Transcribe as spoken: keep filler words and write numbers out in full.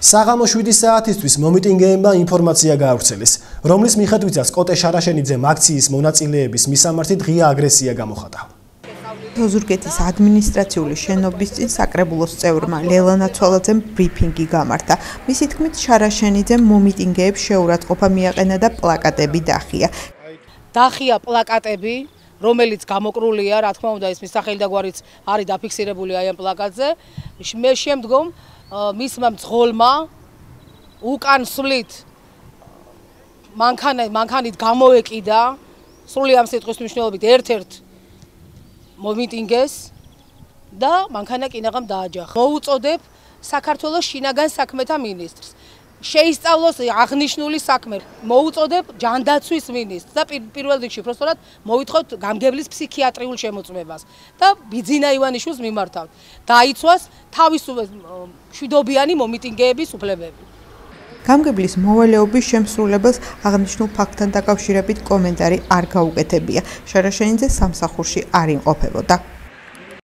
საღამო შვიდი საათისთვის მომიტინგეებმა ინფორმაცია გაავრცელეს, რომლის მიხედვითაც კოტე შარაშენიძემ აქციის მონაწილეების მისამართი ღია აგრესია გამოხატა. ოზურგეთის ადმინისტრაციული შენობის წინ საკრებულოს წევრმა ლელანა ცოლაძემ ბრიფინგი გამართა. მისი თქმით, შარაშენიძემ მომიტინგეებს შეურაცხყოფა მიაყენა და პლაკატები დახია. დახია პლაკატები, რომელიც გამოკრულია, რა თქმა უნდა, ეს მისახელი და გვარიც არის დაფიქსირებული აი ამ პლაკატზე. მე შემდგომ მისმა მძღოლმა უკან სვლით მანქანით გამოეკიდა სრული ამ სიტყვის მნიშვნელობით ერთ-ერთ მომიტინგეს და მანქანა კინაღამ დააჯახა. მოუწოდებ საქართველოს შინაგან საქმეთა მინისტრს შეისწავლოს აღნიშნული საქმე. მოუწოდებ ჯანდაცვის მინისტრს და პირველ რიგში უბრალოდ მოვითხოვთ გამგებლის ფსიქიატრიულ შემოწმებას და ბიძინა ივანიშვილს მიმართავთ. დაიცვას თავისუფლ მშვიდობიანი მომიტინგეების უფლებები. გამგებლის მოვალეობის შემსრულებელს აღნიშნულ ფაქტთან დაკავშირებით კომენტარი არ გაუკეთებია. შარაშენიძე სამსახურში არ იმყოფებოდა.